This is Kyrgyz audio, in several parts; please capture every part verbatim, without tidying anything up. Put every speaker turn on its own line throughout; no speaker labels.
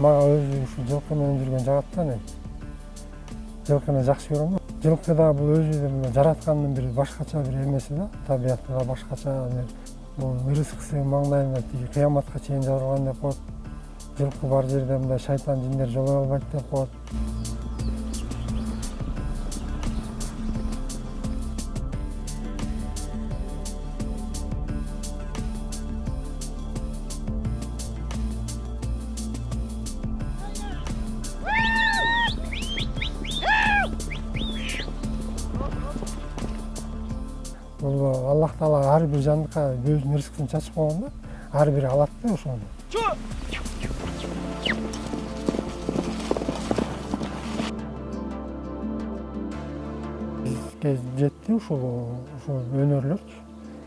мага өзү ушу жылкы менен жүргөн жагат да. Мен жылкыны жакшы көрөм. Жылкы да бул өзү жараткандын бир башкача бир эмеси да, табияты да башкача. Бул рызкысы маңдайында тиги кыяматка чейин жазылган деп коет. Жылкы бар жерде мындай шайтан жиндер жолой албайт деп коет. Бул Аллах Таала ар бир жандыкка өзүнүн рызкысын чачып койгон да, ар бири алат да ошону. Бизге жетти ушул ушул өнөрлөрчү.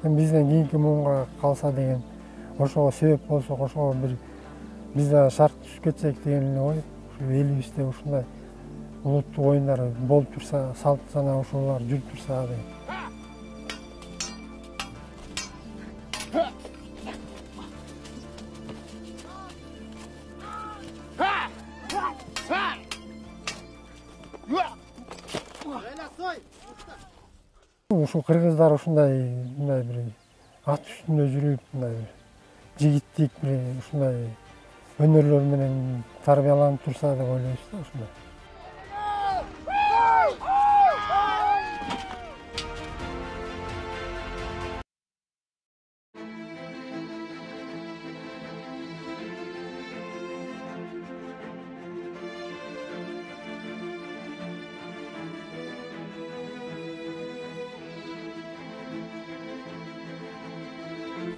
Эми бизден кийинки муунга калса деген, ошого себеп болсок, ошого бир биз да шарт түшүп кетсек деген эле ой. Ушу элибизде ушундай улуттук оюндар болуп турса, салт жана ошолор жүрүп турса деген. Ушул кыргыздар ушундай мындай бир ат үстүндө жүрүп, мындай жигиттик бир ушундай өнөрлөр менен тарбияланып турса деп ойлойбуз да ушундай.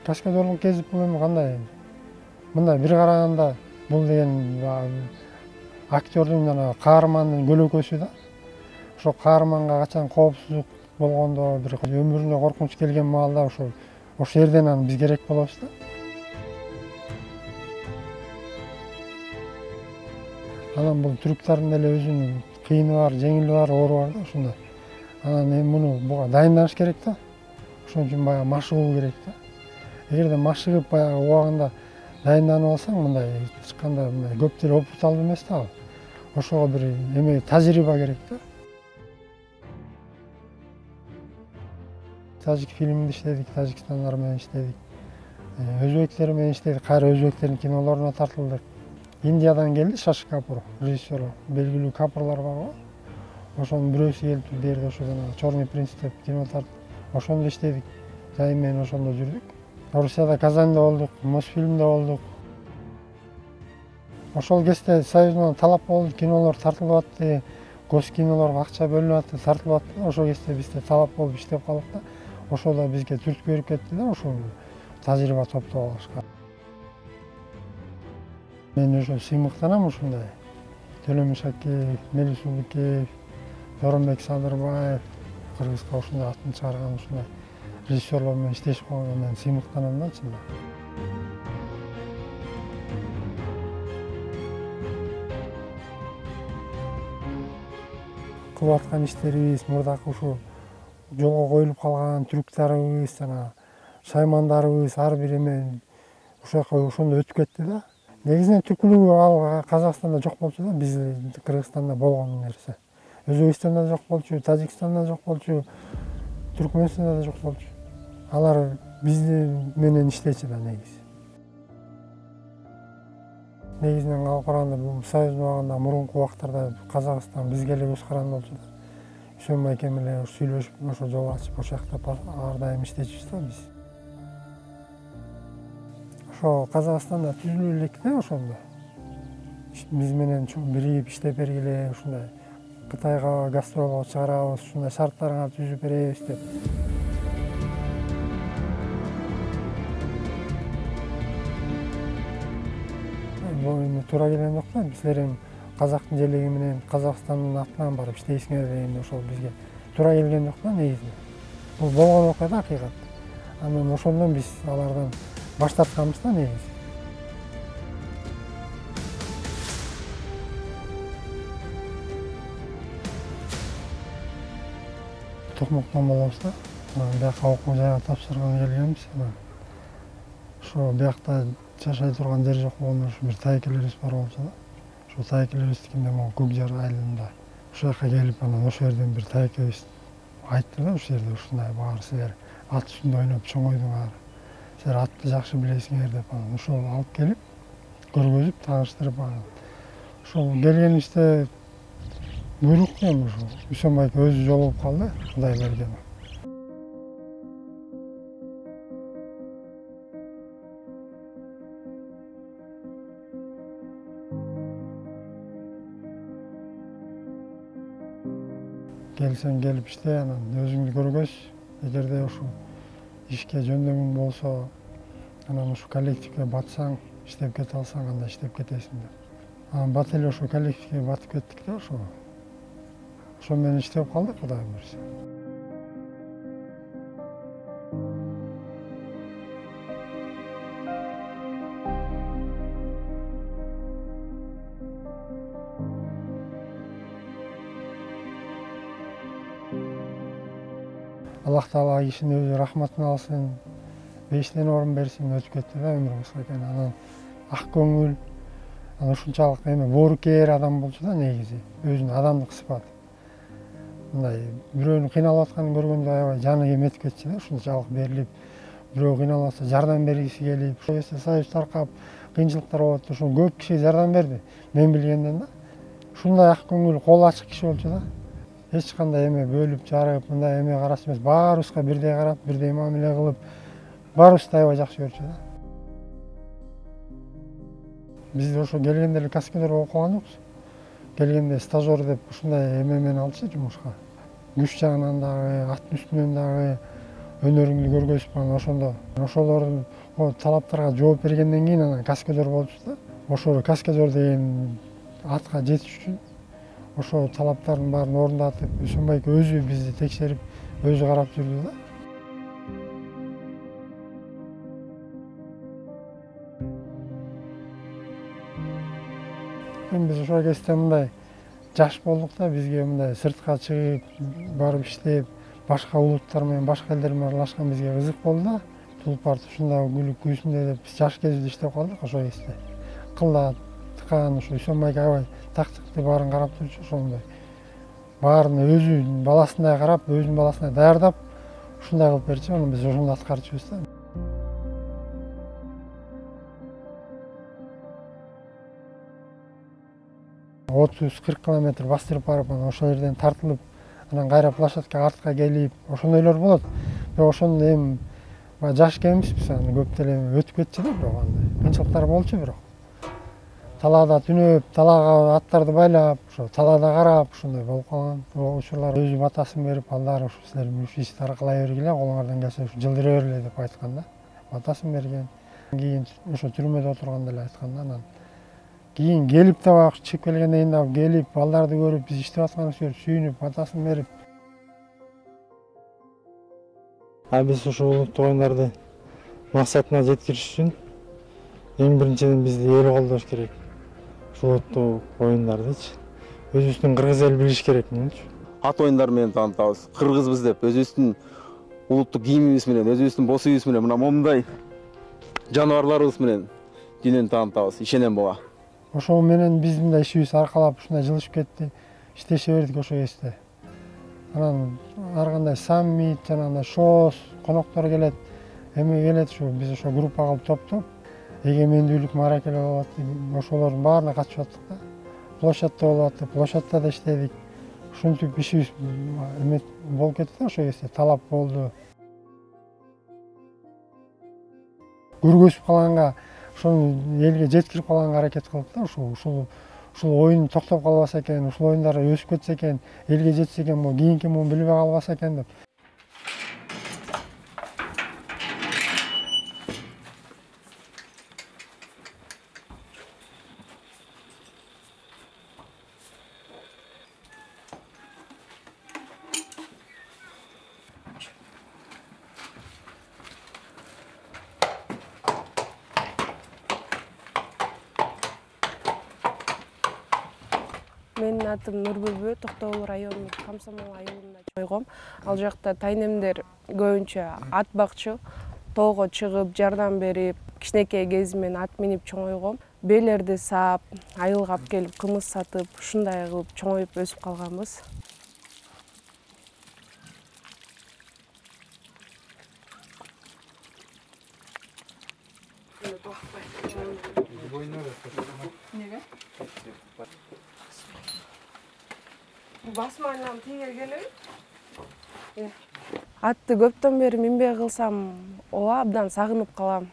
Кашкадорлук кезип бул эми кандай? Мындай бир караганда бул деген актёрдун жана каармандын көлөкөсү да. Ошо каарманга качан коопсуздук болгондо, бир өмүрүнө коркунуч келген маалда ошо ошол жерден анан биз керек болобуз да. Анан бул түрктөрдүн деле өзүнүн кыйыны бар, жеңили бар, оору бар да ушундай. Анан эми муну буга дайынданыш керек да. Ошон үчүн баягы машыгуу керек да. Эгерде машыгып баягы убагында дайынданып алсаң, мындай ачканда мындай көп деле опыт алып эмес да. Ошого бир эме тажрыйба керек да. Тажик фильминде иштедик, тажикстандар менен иштедик. Өзбектер менен иштедик, кайра өзбектердин кинолоруна тартылдык. Индиядан келди Шаши Капур, режиссер, белгилүү капурлар бар го. Ошонун бирөөсү келип бу жерде ошо жана Черный принц деп кино тартып, ошондо иштедик. Жайым менен ошондо жүрдүк. Орусияда Казанда болдук, Мосфильмде болдук. Ошол кезде Союздан талап болду, кинолор тартылып атты, госкинолорго акча бөлүнүп атты, тартылып атты. Ошол кезде бизде талап болуп иштеп калдык да. Ошол да бизге түрткү берип кетти да, ошол тажрыйба топтоп алышка. Мен ошо сыймыктанам ушундай. Төлөмүш Акеев, Мелис Улукеев, Жоронбек Садырбаев, Кыргызга ушундай атын чыгарган ушундай режиссерлор менен иштешип калганга мен сыймыктанам да чындап. Кылып аткан иштерибиз, мурдакы ушу жолго коюлуп калган трюктарыбыз, жана шаймандарыбыз ар бир эме ошол жака ошондо өтүп кетти да. Негизинен түпкүлүгү ал Казакстанда жок болчу да, биз Кыргызстанда болгон нерсе. Өзбекстанда жок болчу, Тажикстанда жок болчу, Түркмөнстанда да жок болчу. Алар бизди менен иштечү да негизи. Негизинен алып караганда бул Союздун убагында мурунку убактарда Казакстан бизге эле көз каранды болчу да. Үсөн байкем эле сүйлөшүп, ошо жол ачып, ошол жакта ар дайым иштечүбүз да биз. Ошо Казакстанда түзүлүп элек да ошондо. Биз менен биригип иштеп бергиле, ушундай Кытайга гастролго чыгарабыз, ушундай шарттарга түзүп беребиз деп. Бул эми туура келген жок да, силер эми казактын желеги менен Казакстандын атынан барып иштейсиңер дегенде ошол бизге туура келген жок да негизи. Бул болгон окуя да акыйкат. Анан ошондон биз алардан баш тартканбыз да негизи. Токмоктон болобуз да. Бияка окуу жайга тапшырганы келгенбиз. Ошо биякта жашай турган жер жок болгондо ушу бир тайкелерибиз бар болчу да. Ошо тайекелер өстүкүндө могу Көк Жар айылында ошол жака келип, анан ошол жерден бир тайекебиз айтты да, ушул жерде ушундай баары силер ат үстүндө ойноп чоңойдуңар, силер атты жакшы билесиңер деп, анан ошол алып келип көргөзүп тааныштырып, анан ошол келгенибизде буйрук эми ушул Үсөнбай өзү жолугуп калды, Кудай берген. Келсең келип иште, анан өзүңдү көргөз, эгерде ушул ишке жөндөмүң болсо, анан ушу коллективге батсаң, иштеп кете алсаң, анда иштеп кетесиң деп. Анан бат эле ошо коллективге батып кеттик да, ошо. Ошо менен иштеп калдык, Кудай буйрса. Аллах Таала кишинин өзү рахматын алсын, бештен орун берсин, өтүп кетти да, өмүр кыска экен. Анан ак көңүл, анан ушунчалык эме боорукер адам болчу да негизи, өзүнүн адамдык сыпаты. Мындай бирөөнүн кыйналып атканын көргөндө аябай жаны эметип кетчү да, ушунчалык берилип, бирөө кыйналып атса жардам бергиси келип, ошол кезде союз таркап, кыйынчылыктар болуп атты, ошол көп кишиге жардам берди, мен билгенден да. Ушундай ак көңүл, кол ачык киши болчу да. Эч кандай эме бөлүп жарып, мындай эме караш эмес, баарыбызга бирдей карап, бирдей мамиле кылып, баарыбызды аябай жакшы көрчү да. Биз ошо келгенде эле каскадер болуп калган жокпуз. Келгенде стажер деп ушундай эме менен алчу жумушка. Күч жагынан дагы, аттын үстүнөн дагы өнөрүңдү көргөзүп, анан ошондо ошолордун талаптарга жооп бергенден кийин анан каскадер болчу да. Ошо каскадер деген атка жетиш үчүн ошо талаптардын баарын орундатып, Үсөнбай өзү бизди текшерип, өзү карап жүрдү да. Эми биз ошол кезде мындай жаш болдук да, бизге мындай сыртка чыгып, барып иштеп, башка улуттар менен, башка элдер менен аралашкан бизге кызык болду да. Тулпарт ушундай күлүп күүсүндөй деп биз жаш кезибизде иштеп калдык ошол кезде. Кылда тыкан ушу Үсөнбайга аябай тактыкты баарын карап турчу, ошондой. Баарын өзүнүн баласындай карап, өзүнүн баласындай даярдап, ушундай кылып берчү, анан биз ошондо аткарчубуз да. отуз кырк километр бастырып барып, анан ошол жерден тартылып, анан кайра площадкага артка келип, ошондойлор болот. Бирок ошондо эми жаш экенбизбиз, анан көп деле өтүп кетчү да, бирок андай кыйынчылыктар болчу бирок. Талаада түнөп, талаага аттарды байлап, ошо талаада карап, ушундай болуп калган учурлар. Өзү батасын берип, алдар ушу силер ушу ишти аркылай бергиле, колуңардан келсе ушу жылдыра бергиле деп айткан да. Батасын берген. Кийин ошо түрмөдө отурганда эле айткан да, анан кийин келип да баягы чыгып келгенден кийин дагы келип, балдарды көрүп, биз иштеп атканыбызды көрүп, сүйүнүп, батасын берип. А биз ушул улуттук оюндарды максатына жеткириш үчүн эң биринчиден бизди эл колдош керек. Ушул улуттук оюндардычы өзүбүздүн кыргыз эл билиш керек мынчы.
Ат оюндары менен таанытабыз. Кыргызбыз деп өзүбүздүн улуттук кийимибиз менен, өзүбүздүн бос үйүбүз менен, мына момундай жаныбарларыбыз менен дүйнөнү таанытабыз. Ишенем буга. Ошол менен биздин да ишибиз аркалап ушундай жылышып кетти. Иштеше бердик ошол кезде. Анан ар кандай саммит, жанагындай шоу, коноктор келет, эме келет, ушу биз ошо группа кылып топтоп, эгемендүүлүк мааракелер болуп атты. Ошолордун баарына катышып аттык да. Площадьта болуп атты, площадьта да иштедик. Ушинтип ишибиз эме болуп кетти да, ошол кезде талап болду. Көргөзүп калганга, ошону элге жеткирип калганга аракет кылдык да, ушул ушул ушул оюн токтоп калбаса экен, ушул оюндар өсүп кетсе экен, элге жетсе экен, могу кийинки муун билбей калбаса экен деп.
Менин атым Нурбүлбү, Токтогул районунун Комсомол айылында чойгом. Ал жакта тайнемдер көбүнчө ат бакчу, тоого чыгып, жардам берип, кичинекей кезимден ат минип чоңойгом. бээлерди саап, айылга алып келип кымыз сатып, ушундай кылып чоңоюп өсүп калганбыз. Басма айынан тийге келеби? Атты көптөн бери минбей калсам, ооба абдан сагынып калам.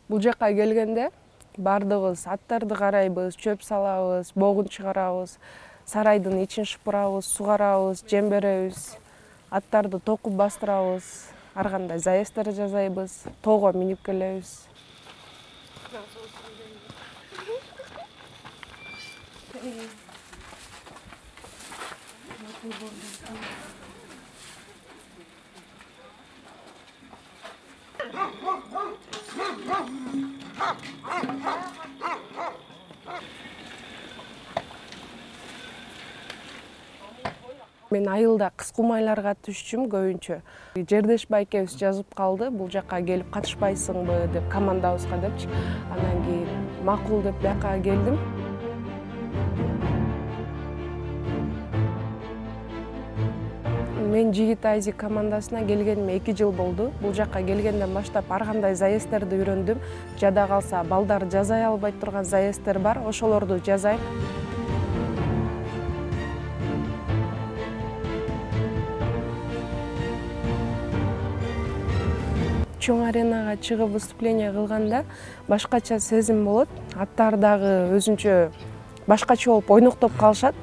Бул жакка келгенде бардыгыбыз аттарды карайбыз, чөп салабыз, богун чыгарабыз, сарайдын ичин шыпырабыз, сугарабыз, жем беребиз, аттарды токуп бастырабыз, ар кандай заезддер жасайбыз, тоого минип келебиз. Мен айылда кыз кумайларга түшчүм көбүнчө. Жердеш байкебиз жазып калды, бул жакка келип катышпайсыңбы деп командабызга депчи. Анан кийин макул деп бияка келдим. Мен Жигит Айзик командасына келгениме эки жыл болду. Бул жакка келгенден баштап ар кандай заезддерди үйрөндүм. Жада калса балдар жазай албай турган заезддер бар, ошолорду жазайм. Чоң аренага чыгып выступление кылганда башкача сезим болот. Аттар дагы өзүнчө башкача болуп ойноктоп калышат.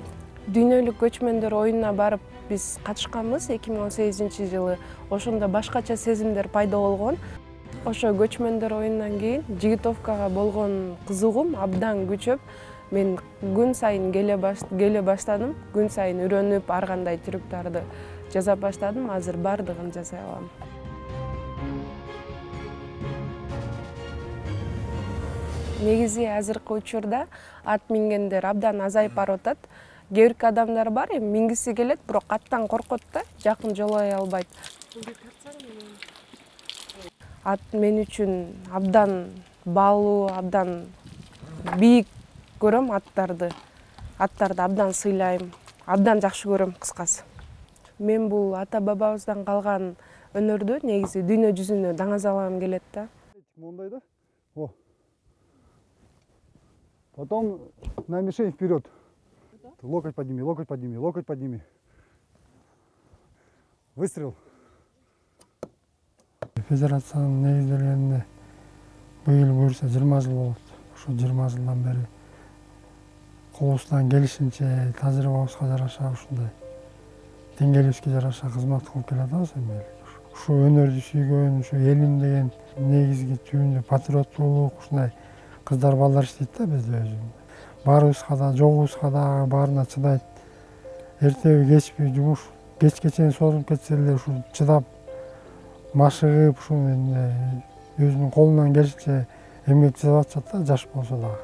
Дүйнөлүк көчмөндөр оюнуна барып биз катышканбыз эки миң он сегизинчи жылы. Ошондо башкача сезимдер пайда болгон. Ошо көчмөндөр оюнунан кийин Жигитовкага болгон кызыгуум абдан күчөп, мен күн сайын келе баштадым. Күн сайын үйрөнүп, ар кандай трюктарды жасап баштадым. Азыр бардыгын жасай алам. Негизи азыркы учурда ат мингендер абдан азайып барып атат. Кээ бир адамдар бар, эми мингиси келет, бирок аттан коркот да, жакын жолой албайт. Ат мен үчүн абдан баалуу, абдан бийик көрөм аттарды. Аттарды абдан сыйлайм, абдан жакшы көрөм кыскасы. Мен бул ата бабабыздан калган өнөрдү негизи дүйнө жүзүнө даңазалагым келет да.
Мондай да. О. Потом на мишень вперед. Локоть подними, локоть подними, локоть подними. Выстрел.
Федерациянын негизделгенине быйыл буюрса жыйырма жыл болот. Ошо жыйырма жылдан бери колубуздан келишинче тажрыйбабызга жараша ушундай деңгээлибизге жараша кызмат кылып келатабыз эми. Ушу өнөрдү сүйгөн, ушу элим деген негизги түбүндө патриоттуулук, ушундай кыздар балдар иштейт да бизде өзү. Барыбызга да, жогубузга да баарына чыдайт. Эртеби кечпи жумуш кечке чейин созулуп кетсе эле ушу чыдап машыгып ушу өзүнүн колунан келишинче эмгек жасап атышат да, жаш болсо дагы.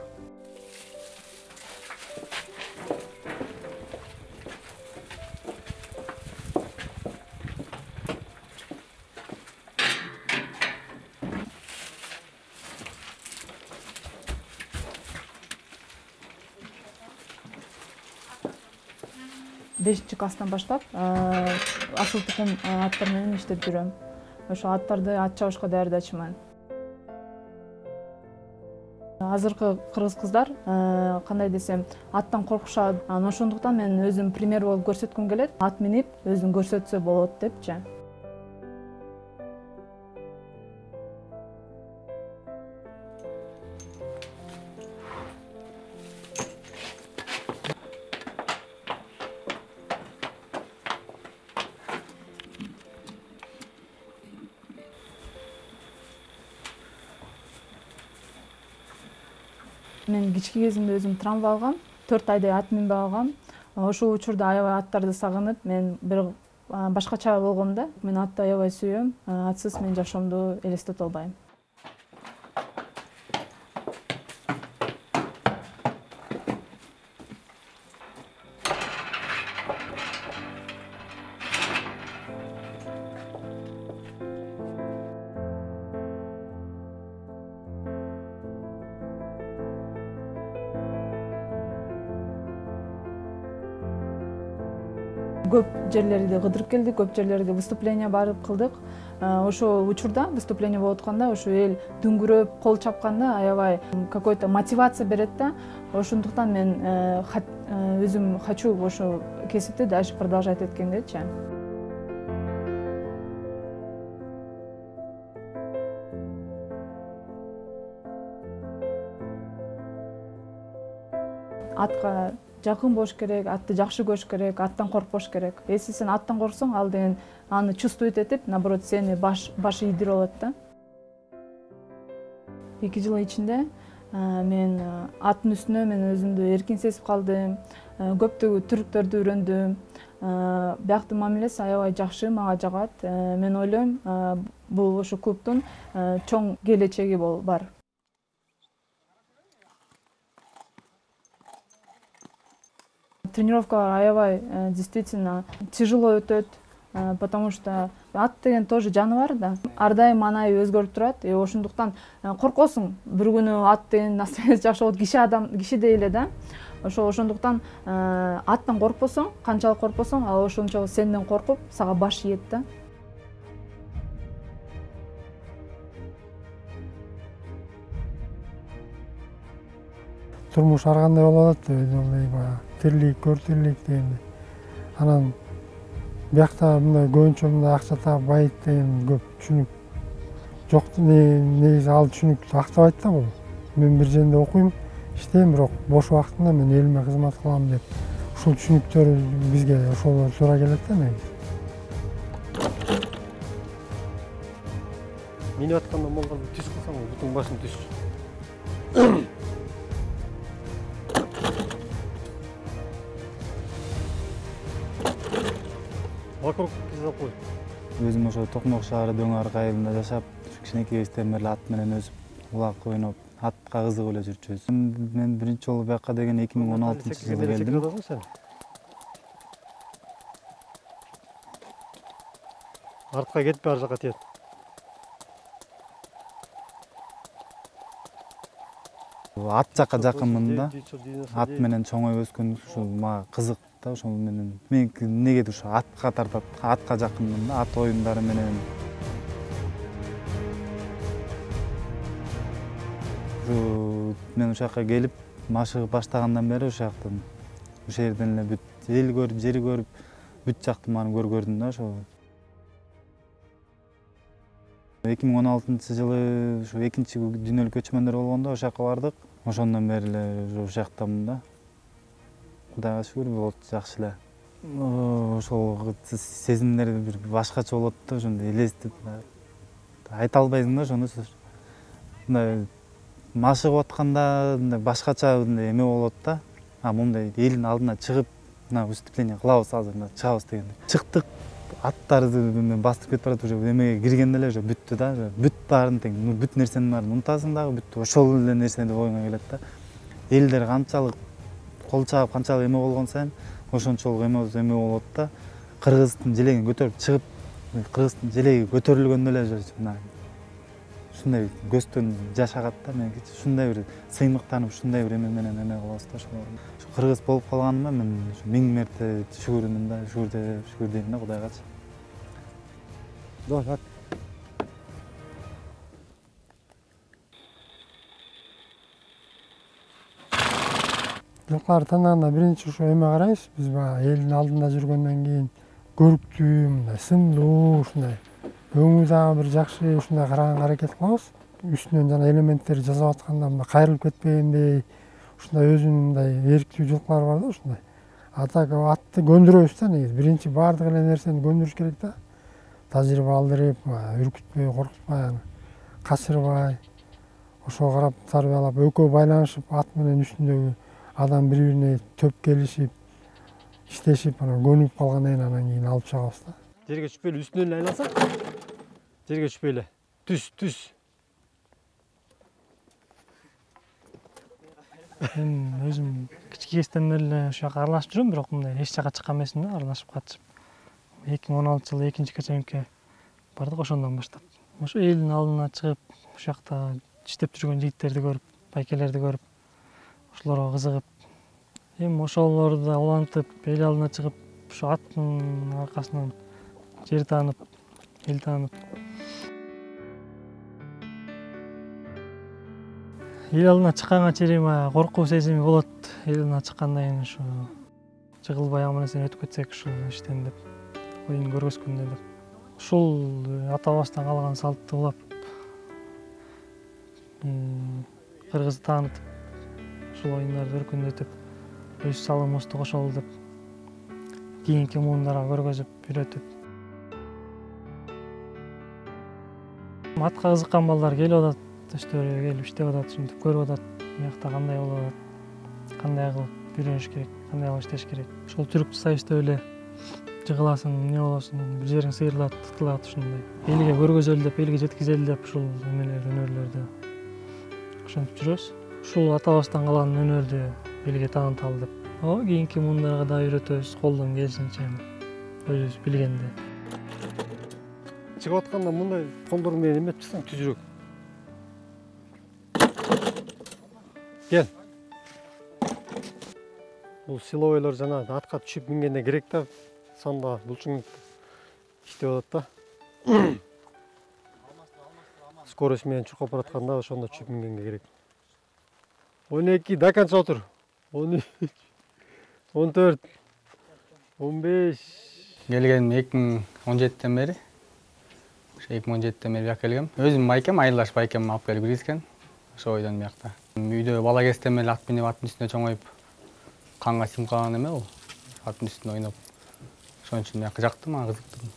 бешинчи класстан баштап асыл тукум аттар менен иштеп жүрөм. Ошо аттарды ат чабышка даярдачуман. Азыркы кыргыз кыздар кандай десем, аттан коркушат. Анан ошондуктан мен өзүм пример болуп көрсөткүм келет. Ат минип өзүн көрсөтсө болот депчи. Мен кички кезимде өзүм травма алгам, төрт айдай ат минбей алгам. Ошол учурда аябай аттарды сагынып, мен бир башкача болгом да. Мен атты аябай сүйөм. Атсыз мен жашоомду элестете албайм. Көп жерлерди кыдырып келдик, көп жерлерге выступление барып кылдык. Ошо учурда выступление болуп атканда ошо эл дүңгүрөп, кол чапканда аябай какой-то мотивация берет да. Ошондуктан мен өзүм хочу ошо кесипти дальше продолжать эткендечи. Атка жакын болуш керек, атты жакшы көрүш керек, аттан коркпош керек. Если сен аттан корксоң, ал деген аны чувствовать этип, наоборот, сени баш башы ийдирип алат да. эки жыл ичинде мен аттын үстүнө мен өзүмдү эркин сезип калдым. Көптөгөн түрктөрдү үйрөндүм. Бияктын мамилеси аябай жакшы, мага жагат. Мен ойлойм, бул ошо клубдун чоң келечеги бар. Тренировкалар аябай действительно тяжело өтөт, потому что ат деген тоже жаныбар да. Ар дайым маанайы өзгөрүп турат. Ошондуктан коркосуң. Бир күнү ат деген настроениясы жакшы болот, киши адам, кишидей эле да. Ошо ошондуктан аттан коркпосоң, канчалык коркпосоң, ал ошончо сенден коркуп, сага баш ийет да.
Турмуш ар кандай болот деп, тирлик, көр тирлик дегенде. Анан биякта мындай көбүнчө мындай акча таап байыт деген көп түшүнүк жок. Негизи ал түшүнүктү актабайт да бул. Мен бир жерде окуйм, иштейм, бирок бош убактымда мен элиме кызмат кылам деп. Ушул түшүнүктөр бизге ошолор туура келет да негизи.
Минип атканда молдорду түз кылсаң, бутун башын түз. Вокруг кизап кой.
Өзүм ошо Токмок шаары Дөңарк айылында жашап, кичинекей кезден бери ат менен өсүп, улак ойноп, атка кызыгып эле жүрчүбүз. Мен биринчи жолу бияка деген эки миң он алтынчы жылы келдим.
Артка кетпей ар жака тиет.
Ат жакка жакынмын да. Ат менен чоңоюп өскөн ушул мага кызык да, ошол менен. Мен негеди ушу атка тартат, атка жакынмын да, ат оюндары менен. Мен ушул жака келип, машыгып баштагандан бери ушул жактан, ушул жерден эле бүт эл көрүп, жери көрүп, бүт жакты маны көргөрдүм да ошол. эки миң он алтынчы жылы ушу экинчи дүйнөлүк көчмөндөр болгондо ошол жака бардык. Ошондон бери эле ушул жактамын да. Кудайга шүгүр, болот жакшы эле. Ошол сезимдер бир башкача болот да, ошондой элестетип айта албайсың да ошону. Мындай машыгып атканда мындай башкача мындай эме болот да. А мындай элдин алдына чыгып, мына выступление кылабыз азыр, мына чыгабыз дегенде. Чыктык, аттарды бастырып кетип барат, уже эмеге киргенде эле уже бүттү да, бүт баарын тең, бүт нерсенин баарын унутасың дагы, бүт ошол эле нерсе деп оюңа келет да. Элдер канчалык кол чаап, канчалык эме болгон сайын ошончолук эме эме болот да. Кыргыздын желегин көтөрүп чыгып, кыргыздын желеги көтөрүлгөндө эле мына ушундай көздөн жаш агат да. Мен ушундай бир сыймыктанып, ушундай бир эме менен эме кылабыз да ошол. Кыргыз болуп калганыма мен миң мерте шүгүрмүн да, шүгүр шүгүр дейм да Кудайгачы.
Давай,
Жылкыларды тандаганда биринчи ошо эме карайбыз. Биз баягы элдин алдында жүргөндөн кийин көрүктүү, мындай сымдуу, ушундай өңү дагы бир жакшы ушундай караганга аракет кылабыз. Үстүнөн жана элементтерди жасап атканда мындай кайрылып кетпегендей, ушундай өзүнүн мындай эрктүү жылкылары бар да ушундай. А так атты көндүрөбүз да негизи. Биринчи баардык эле нерсени көндүрүш керек да. Тажрыйба алдырып, үркүтпөй, коркутпай, качырбай, ошого карап тарбиялап, экөө байланышып, ат менен үстүндөгү адам бири-бирине төп келишип, иштешип, анан көнүп калгандан кийин анан кийин алып чыгабыз да.
Жерге түшпөй эле үстүнөн эле айлансак. Жерге түшпөй эле. Түз, түз.
Мен өзүм кички кезден бери эле ушул жака аралашып жүрөм, бирок мындай эч жака чыккан эмесмин да, аралашып катышып. эки миң он алтынчы жылы экинчи көчөмүккө бардык, ошондон баштап. Ошо элдин алдына чыгып, ушул жакта иштеп жүргөн жигиттерди көрүп, байкелерди көрүп, ошолорго кызыгып, эми ошолорду да улантып, эл алдына чыгып ушу аттын аркасынан жер таанып, эл таанып. Эл алдына чыкканга чейин коркуу сезими болот. Эл алдына чыккандан кийин ушу жыгылбай ама нерсени өтүп кетсек ушул иштен деп, оюн көргөзгөндө деп. Ушул ата бабастан калган салтты улап кыргызды таанытып, ушул оюндарды өркүндөтүп, өз салымыбызды кошолу деп кийинки муундарга көргөзүп, үйрөтүп. Атка кызыккан балдар келип атат, өстөрү келип иштеп атат, ушинтип көрүп атат, биякта кандай болуп атат, кандай кылып үйрөнүш керек, кандай кылып иштеш керек. Ошол түрүктү сайыштап эле жыгыласың, эмне болосуң, бир жериң сыйрылат, тытылат ушундай. Элге көргөзөлү деп, элге жеткизели деп ушул эмелер, өнөрлөрдү ошентип жүрөбүз. Ушул ата бабастан калган өнөрдү элге тааныталы деп. О, кийинки муундарга да үйрөтөбүз, колдон келишинче, өзүбүз билгенде.
Чыгып атканда мындай кондор менен эметип чыксаң түзүрөк. Кел. Бул силовойлор жана атка түшүп мингенде керек да, санда булчуң иштеп атат да. Скорость менен чуркап баратканда ошондо түшүп мингенге керек. он эки, до конца отур. он үч, он төрт, он беш.
Келгеним эки миң он жетиден бери. эки миң он жетиден бери бияка келгем. Өзүм байкем, айылдаш байкем алып келип киргизген. Ошо бойдон биякта. Үйдө бала кезден бери ат минип, аттын үстүнө чоңоюп, канга сиңип калган эме бул. Аттын үстүндө ойноп. Ошон үчүн бияка жакты, мага кызыктырды.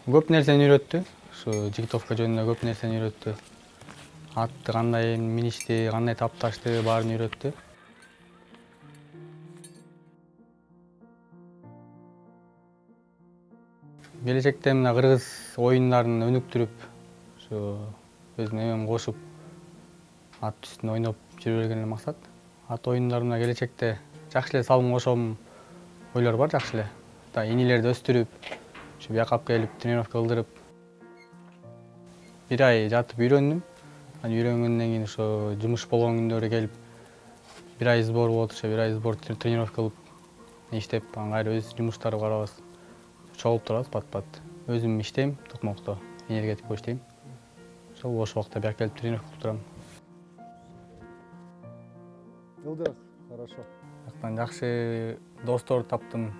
Көп нерсени үйрөттү. Ушу жигитовка жөнүндө көп нерсени үйрөттү. Атты кандай миништи, кандай тапташты, баарын үйрөттү. Келечекте мына кыргыз оюндарын өнүктүрүп, ушу өзүм эмем кошуп, ат үстүндө ойноп жүрө берген эле максат. Ат оюндарына келечекте жакшы эле салым кошом ойлор бар, жакшы эле. Да инилерди өстүрүп, ушу бияка алып келип тренировка кылдырып, бир ай жатып үйрөндүм. Анан үйрөнгөндөн кийин ошо жумуш болгон күндөрү келип, бир ай сбор болот, ошо бир ай сбор тренировка кылып, иштеп, анан кайра өз жумуштарды карабыз. Чогулуп турабыз пат-пат. Өзүм иштейм, токмокто, энергетикте иштейм. Ошол бош убакытта бияка келип тренировка кылып турам.
Ылдык, хорошо.
Жактан жакшы достор таптым,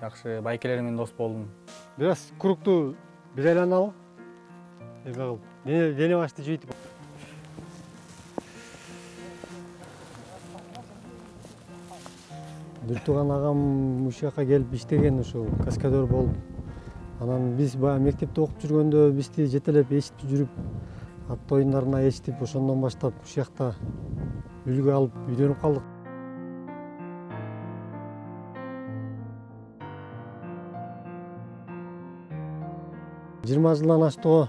жакшы байкелер менен дос болдум.
Бир аз кругту бир айланалы. Эме кылып, дене башты жыйтып. Бир тууган агам ушул жака келип иштеген, ушул каскадер болуп. Анан биз баягы мектепте окуп жүргөндө бизди жетелеп эчитип жүрүп, ат оюндарына эчитип, ошондон баштап ушул жакта үлгү алып үйрөнүп калдык. жыйырма жылдан ашты го.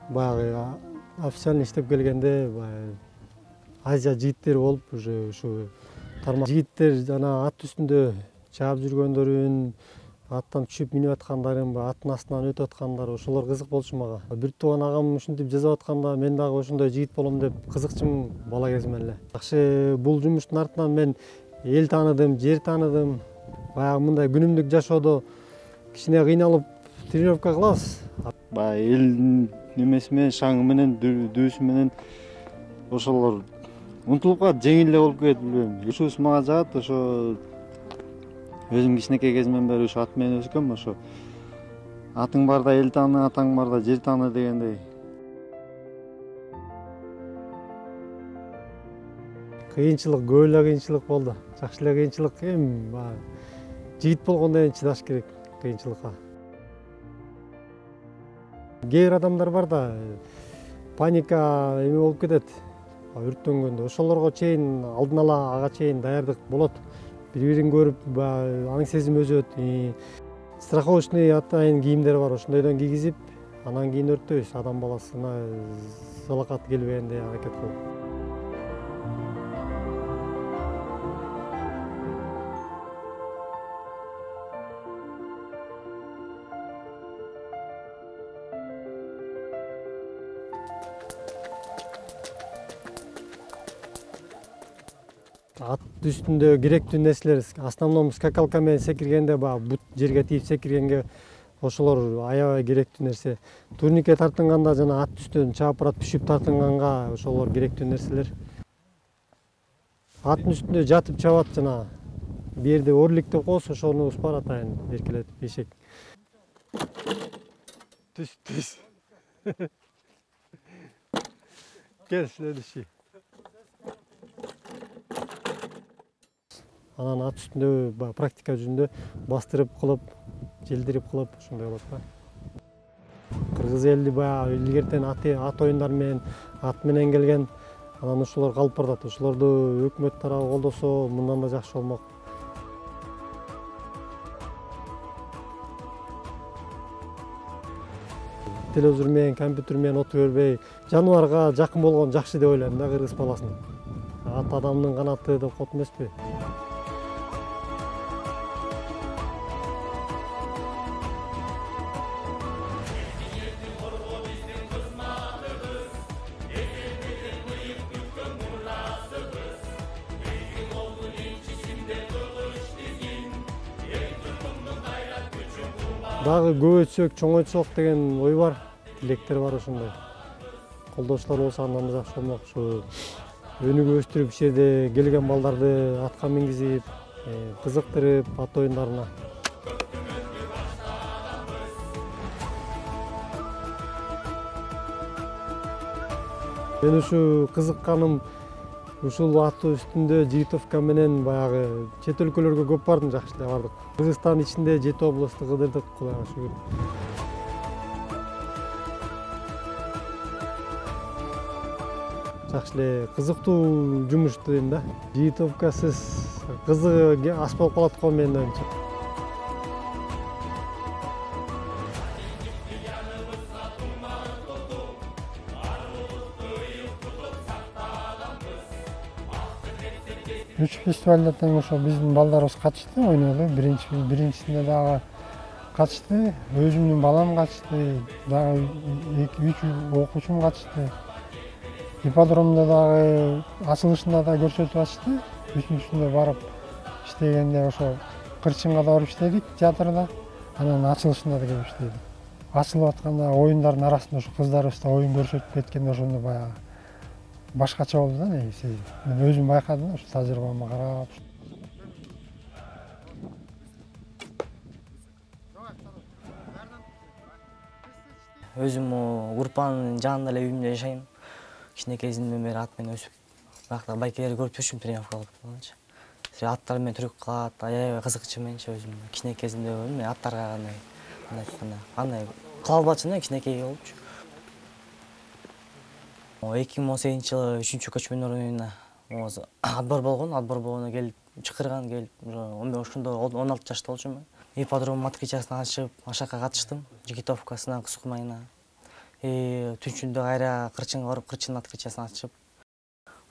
Баягы официально иштеп келгенде баягы Азия жигиттери болуп, уже ушу тармак жигиттер жана ат үстүндө чаап жүргөндөрүн, аттан түшүп минип аткандарын, аттын астынан өтүп аткандар, ошолор кызык болчу мага. Бир тууган агам ушинтип жазып атканда мен дагы ошондой жигит болом деп кызыкчумун бала кезимден эле. Жакшы бул жумуштун артынан мен эл тааныдым, жер тааныдым. Баягы мындай күнүмдүк жашоодо кичине кыйналып тренировка кылабыз. Баягы элдин немеси менен, шаңы менен, дүүсү менен ошолор унутулуп калат, жеңил эле болуп кетет, билбейм. Ушубуз мага жагат, ошо өзүм кичинекей кезимден бери ушу ат менен өскөм, ошо атың барда эл тааны, атаң барда жер тааны дегендей. Кыйынчылык, көп эле кыйынчылык болду. Жакшы эле кыйынчылык, эми баягы жигит болгондон кийин чыдаш керек кыйынчылыкка. Кээ бир адамдар бар да, паника эме болуп кетет, өрттөнгөндө. Ошолорго чейин алдын ала ага чейин даярдык болот. Бири-бирин көрүп, аң сезим өзөт. Страховочный атайын кийимдер бар, ошондойдон кийгизип, анан кийин өрттөйбүз. Адам баласына залакат келбегенде аракет кылып.
ат үстүндө керектүү нерселер основном скакалка менен секиргенде баягы бут жерге тийип секиргенге ошолор аябай керектүү нерсе. Турникке тартынганда жана ат үстүнөн чаап барат түшүп тартынганга ошолор керектүү нерселер. Аттын үстүндө жатып чабат жана бул жерде орликтеп коебуз, ошону ушпар атайын эркелетип эшек. Түз түз. Gel следующий. Анан ат үстүндө практика жүзүндө бастырып кылып, желдирип кылып ошондой болот да. Кыргыз эли баягы илгертен ат оюндары менен, ат менен келген, анан ошолор калып баратат. Ошолорду өкмөт тарабы колдосо мындан да жакшы болмок. Телевизор менен, компьютер менен отура бербей, жаныбарга жакын болгон жакшы деп ойлойм да кыргыз баласын. Ат адамдын канаты деп коет эмеспи? Дагы көбөйтсөк, чоңойтсок деген ой бар, тилектер бар ошондой. Колдоочулар болсо андан да жакшы болмок. Ушу өнүгүп өстүрүп, иш жерде келген балдарды атка мингизип, кызыктырып ат оюндарына. Мен ушу кызыкканым ушул ат үстүндө жигитовка менен баягы чет өлкөлөргө көп бардым, жакшы эле бардык. Кыргызстан ичинде жети областты кыдырдык, Кудайга шүгүр. Жакшы эле кызыктуу жумуш дейм да. Жигитовкасыз кызыгы аз болуп калат го менин оюмча.
Үч фестивалда тең ошо биздин балдарыбыз катышты, ойноду. Биринчи биринчисинде дагы катышты, өзүмдүн балам катышты, дагы үч окуучум катышты. Ипподромдо дагы ачылышында да көрсөтүп ачты. Үчүнчүсүндө барып иштегенде ошо Кырчынга да барып иштедик театрда. Анан ачылышында да келип иштедик. Ачылып атканда оюндардын арасында ошо кыздарыбыз да оюн көрсөтүп кеткенде ошондо баягы башкача болду да, негизи. Мен өзүм байкадым да, ошо тажрыйбама карап.
Өзүм группанын жанында эле үйүмдө жашайм. Кичинекейимден бери ат менен өсүп, баягы байкелерди көрүп жүрчүмүн тренировка кылып. Аттар менен түрүк кылат, аябай кызыкчу менчи өзүм. Кичинекейимде мен аттарга кандай, кандай айтканда, андай кыла албатчын да, кичинекей болупчу. эки миң он сегизинчи жылы үчүнчү көчмөндөр оюнуна отбор болгон, отбор болгондо келип чакырган, келип ошондо он алты жашта болчумун. Ипподром аткечасына ачып, ашакка катыштым, жигитовкасына, кыз кумайына. Түнчүндө кайра Кырчынга барып, Кырчынын аткечасына ачып.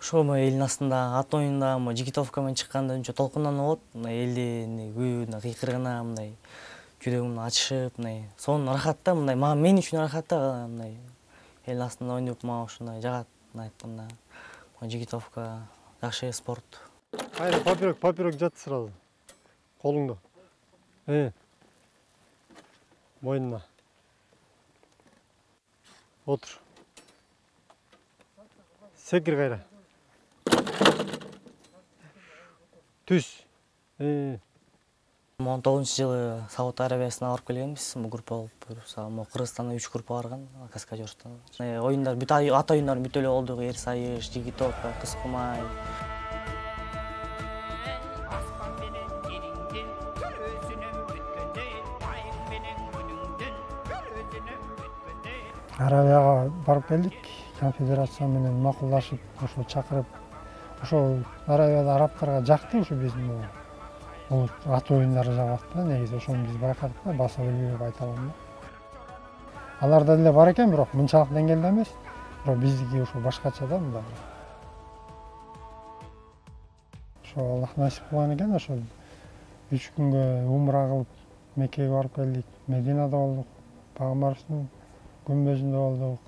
Ошо элдин астында ат оюнунда жигитовка менен чыкканда үнчө толкунданып болот. Мындай элдин күйүүнү, кыйкырыгына мындай жүрөгүмдү ачышып, мындай сонун рахат да, мындай мен үчүн рахат да, мындай эл астында ойноп мага ушундай жагат, айтканда. Жигитовка жакшы спорт.
Кайра папирок, папирок жат сразу. Колуңда. Э. Мойнуна. Отур. Секир кайра. Түз. Э.
он тогузунчу жылы Сауд Арабиясына барып келгенбиз, бул группа болуп. Кыргызстандан үч группа барган, каскадёрстан. Оюндар бүт ат оюндары бүт эле болдук, эр сайыш, жигитовка, кыз кумай.
Арабияга барып келдик, конфедерация менен макулдашып, ошо чакырып, ошо Арабияда арабтарга жакты ушу биздин бул ат оюндары жагат да, негизи ошону биз байкадык да, баса билбей деп айта алам да. Аларда деле бар экен, бирок мынчалык деңгээлде эмес. Бирок биздики ошо башкача да, мындай. Ошо Аллах насип кылган экен, ошо үч күнгө умра кылып Меккеге барып келдик. Мединада болдук, Пайгамбарыбыздын күмбөзүндө болдук.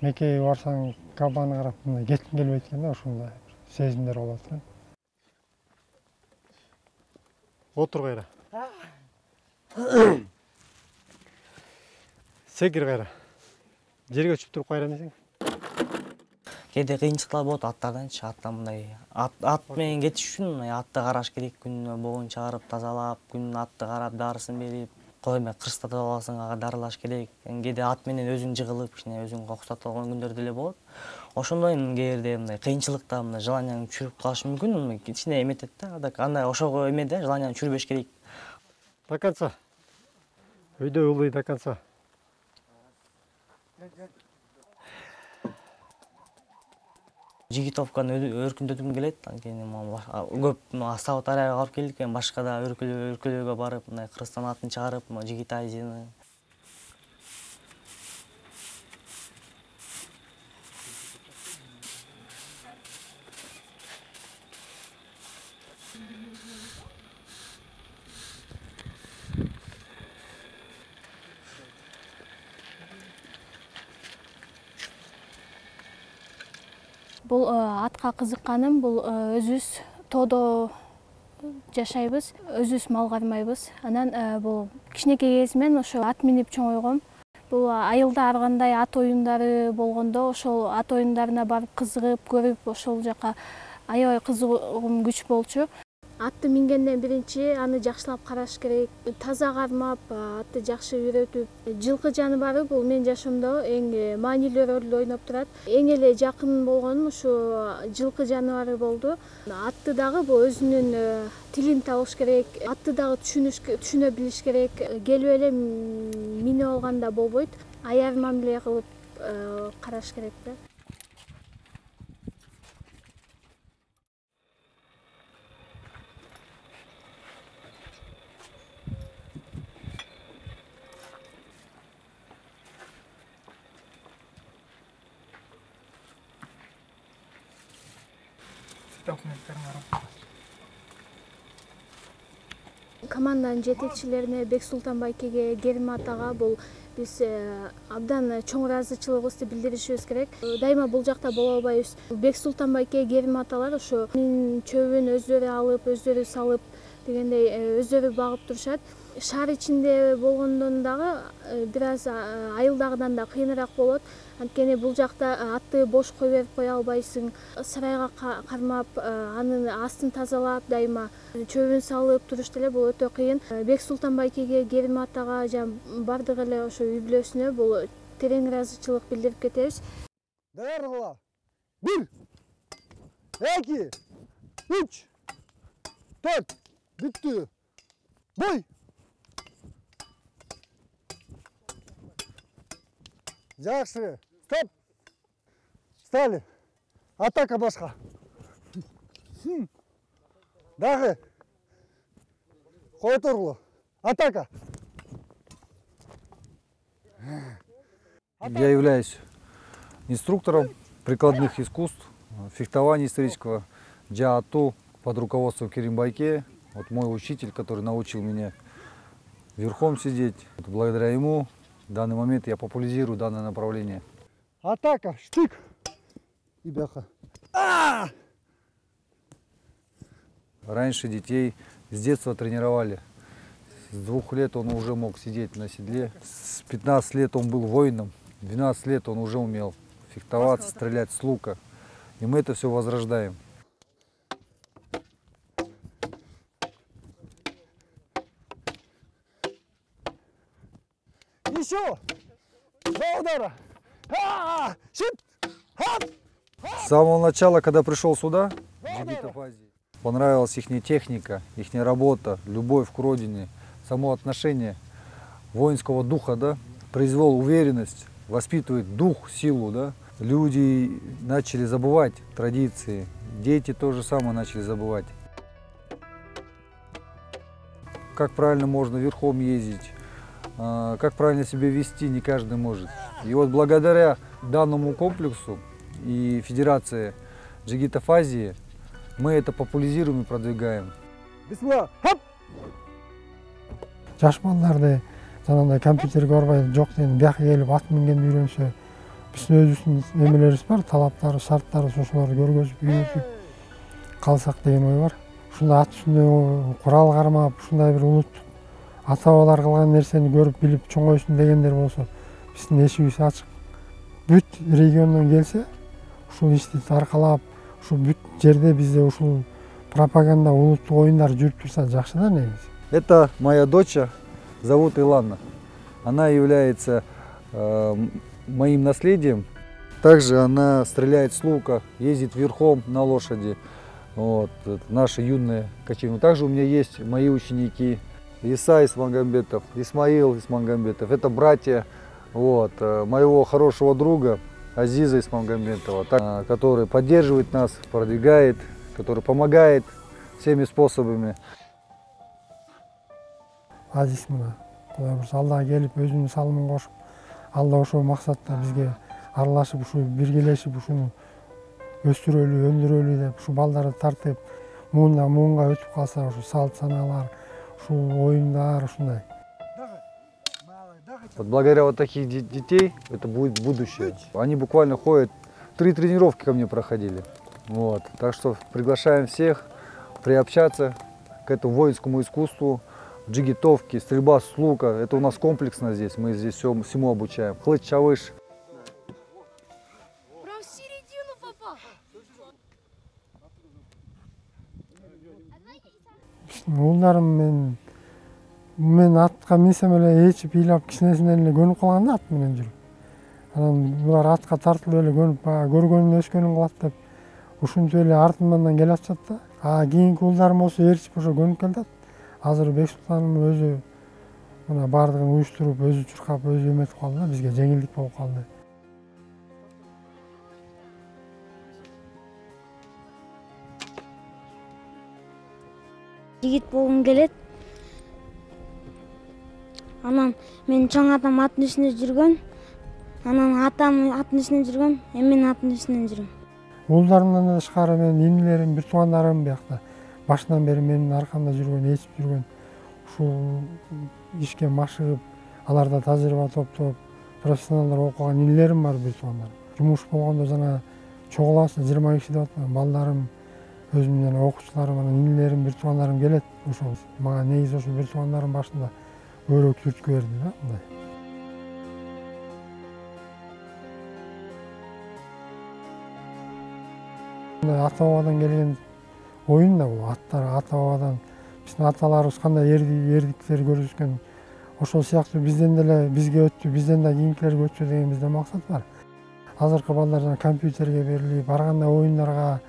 Меккеге барсаң Кабаны карап, мындай кеткиң келбейт экен да, ошондой сезимдер болот экен.
Отур кайра. Секир кайра. Жерге түшүп туруп кайра эмесең.
Кээде кыйынчылыктар болот аттарданчы. Аттан мындай ат менен кетиш үчүн мындай атты караш керек, күнүнө богун чыгарып, тазалап, күнүнө атты карап, дарысын берип, кол эме кырсытып аласың, ага дарылаш керек. Кээде ат менен өзүң жыгылып, кичине өзүң кокустатып алган күндөр деле болот. Ошондой кээде мындай кыйынчылыкта мындай желанияң чүрүп калышы мүмкүн, кичине эметет да. Андай ошого эмеде желанияң чүрбөш керек.
До конца. Өйдө улуй до конца.
Жигитовканы өркүндөтүм келет. Анткени көп Саут-Арабияга барып келдик, эми башка да өлкөлөргө барып, мындай Кыргызстан атын чыгарып, Жигитайзыны.
Бул атка кызыкканым, бул өзүбүз тоодо жашайбыз, өзүбүз мал кармайбыз. Анан бул кичинекей кезимден ошо ат минип чоңойгом. Бул айылда ар кандай ат оюндары болгондо, ошол ат оюндарына барып кызыгып, көрүп, ошол жака аябай кызыгуум күч болчу. Атты мингенден биринчи аны жакшылап караш керек, таза кармап, атты жакшы үйрөтүп. Жылкы жаныбары бул менин жашоомдо эң маанилүү ролду ойноп турат. Эң эле жакын болгонум ушу жылкы жаныбары болду. Атты дагы бул өзүнүн тилин табыш керек, атты дагы түшүнө билиш керек. Келип эле минип алганда болбойт, аяр мамиле кылып караш керек да. Команданын жетекчилерине Бексултан байкеге, Керим атага бул биз абдан чоң ыраазычылыгыбызды билдиришибиз керек. Дайыма бул жакта боло албайбыз. Бексултан байке, Керим аталар ошо минин чөбүн өздөрү алып, өздөрү салып дегендей өздөрү багып турушат. Шаар ичинде болгондон дагы бир аз айылдагыдан да кыйыныраак болот. Анткени бул жакта атты бош кое берип кое албайсың. Сарайга кармап, анын астын тазалап, дайыма чөбүн салып туруш деле бул өтө кыйын. Бексултан байкеге, Керим атага жана бардык эле ошо үй бүлөсүнө бул терең ыраазычылык билдирип кетебиз.
Даярдыгыла. бир, эки, үч, төрт. Бүттү. Бой. Жакшы. Стоп. Стали. Атака башка. Дагы. Кой тургулу. Атака.
Я являюсь инструктором прикладных искусств, фехтования исторического, джиа-ату под руководством Керим Байке. Вот мой учитель, который научил меня верхом сидеть. Благодаря ему в данный момент я популяризирую данное направление.
Атака, штык. И бяха. А!
Раньше детей с детства тренировали. С двух лет он уже мог сидеть на седле. С пятнадцати лет он был воином. В двенадцать лет он уже умел фехтоваться, стрелять с лука. И мы это все возрождаем.
Еще! Два удара! А-а-а! Щит! Хоп!
С самого начала, когда пришел сюда, понравилась их техника, их работа, любовь к родине, само отношение воинского духа, да, произвел уверенность, воспитывает дух, силу, да. Люди начали забывать традиции, дети то же самое начали забывать. Как правильно можно верхом ездить, как правильно себя вести, не каждый может. И вот благодаря данному комплексу и Федерации Джигитов-Азии мы это популяризируем и продвигаем.
Жаш балдарды жанагындай компьютерге барбай жок деген бияка келип ат мингенди үйрөнсө, биздин өзүбүздүн эмелерибиз бар, талаптары, шарттары, ошолорду көргөзүп, үйрөтүп калсак деген ой бар. ушундай ат үстүндө курал кармап ушундай бир улуттук ата бабалар кылган нерсени көрүп билип чоңойсун дегендер болсо биздин эшигибиз ачык. Бүт региондон келсе ушул ишти таркалап ушул бүт жерде бизде ушул пропаганда улуттук оюндар жүрүп турса жакшы да негизи.
Это моя дочь, зовут Илана. Она является э, моим наследием. Также она стреляет с лука, ездит верхом на лошади. Вот, наши юные кочевники. Также у меня есть мои ученики. Иса Исмагамбетов, Исмаил Исмагамбетов. Это братья вот, моего хорошего друга Азиза Исмагамбетова, который поддерживает нас, продвигает, который помогает всеми способами.
Азиз мына Кудай буюрса Аллах келип өзүнүн салымын кошуп, Алла ошол максатта бизге аралашып, ушу биргелешип, ушуну өстүрөлү, өндүрөлү деп, ушу балдарды тартып, муундан муунга өтүп калса, ушу салт санаалар, ушул оюндар ушундай.
Вот благодаря вот таких детей это будет будущее. Они буквально ходят, три тренировки ко мне проходили. Вот. Так что приглашаем всех приобщаться к этому воинскому искусству. Джигитовки, стрельба с лука. Это у нас комплексно здесь. Мы здесь все, всему обучаем. Хлыч, чавыш.
Прям в середину попал.
Улдарым мен мен атка минсем эле ээчип ыйлап кичинесинен эле көнүп калган да ат менен жүрүп. Анан булар атка тартылып эле көнүп, баягы көргөнүн өскөнүн кылат деп ушинтип эле артымдан келе атышат да. А кийинки улдарым болсо ээрчип ошо көнүп келатат. Азыр Бексултаным өзү мына бардыгын уюштуруп, өзү чуркап, өзү эметип калды да, бизге жеңилдик болуп калды.
Жигит болгум келет. Анан мен чоң атам аттын үстүндө жүргөн. Анан атам аттын үстүндө жүргөн, эми мен аттын үстүндө жүрөм.
Улдарымдан тышкары менин инилерим, бир туугандарым биякта башынан бери менин аркамда жүргөн, ээчип жүргөн, ушул ишке машыгып, аларда тажрыйба топтоп, профессионалдар болуп калган инилерим бар, бир туугандарым. Жумуш болгондо жана чогуласы жыйырма киши деп атпайм, балдарым, өзүмдүн жана окуучуларым, анан инилерим, бир туугандарым келет. Ошол мага негизи ошол бир туугандарым башында өрөк түрткү берди да, мындай. Мындай ата бабадан келген оюн да бул, аттар ата бабадан биздин аталарыбыз кандай эрдиктер көрсөткөн, ошол сыяктуу бизден деле бизге өттү, бизден да кийинкилерге өтсө деген бизде максат бар. Азыркы балдар жана компьютерге берилип, ар кандай оюндарга,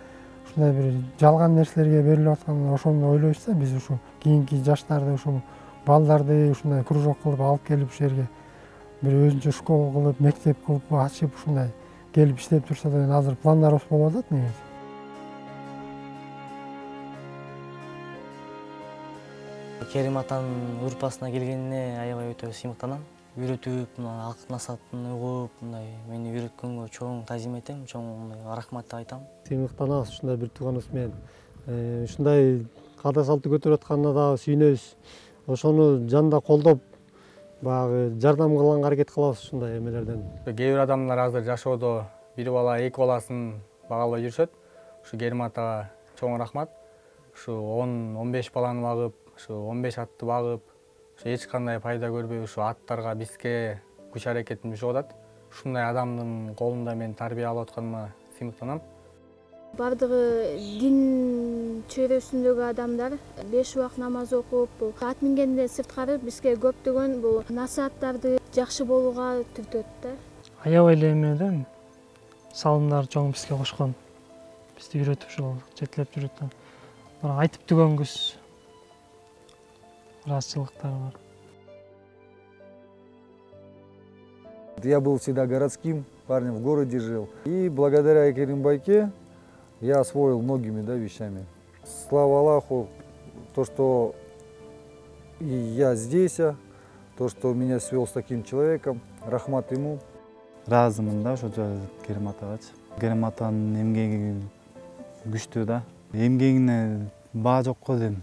ушундай бир жалган нерселерге берилип атканда ошону ойлойбуз да, биз ушу кийинки жаштарды, ушул балдарды ушундай кружок кылып алып келип ушул жерге бир өзүнчө школа кылып, мектеп кылып ачып ушундай келип иштеп турса деген азыр пландарыбыз болуп атат негизи.
Керим атанын урпасына келгенине аябай өтө сыймыктанам. Үйрөтүп, мына акыл насаатын угуп, мындай мени үйрөткөнгө чоң таазим этем, чоң рахмат деп айтам.
Сыймыктанабыз ушундай бир тууганыбыз менен. Ушундай каада салтты көтөрүп атканына дагы сүйүнөбүз. Ошону жанда колдоп, баягы жардам кылганга аракет кылабыз ушундай эмелерден.
Кээ бир адамдар азыр жашоодо бир бала, эки баласын багалбай жүрүшөт. Ушу Керим атага чоң рахмат. Ушу он он беш баланы багып, ушу он беш атты багып, ушу эч кандай пайда көрбөй ушу аттарга бизге күч аракетин түшүп атат. Ушундай адамдын колунда мен тарбия алып атканыма сыймыктанам.
Бардыгы дин чөйрөсүндөгү адамдар беш убак намаз окуп, ат мингенден сырткары бизге көптөгөн бул насааттарды жакшы болууга түртөт да.
Аябай эле эме да, салымдар чоң бизге кошкон. Бизди үйрөтүп ушул жетелеп жүрөт. Айтып түгөнгүс разчылыктар бар.
Я был всегда городским парнем, в городе жил. И благодаря Керимбайке я освоил многими да, вещами. Слава Аллаху, то, что и я здесь, то, что меня свел с таким человеком, рахмат ему.
Разымын да, ошо Керим атагачы. Керим атанын эмгеги күчтүү да. Эмгегине баа жок го дейм.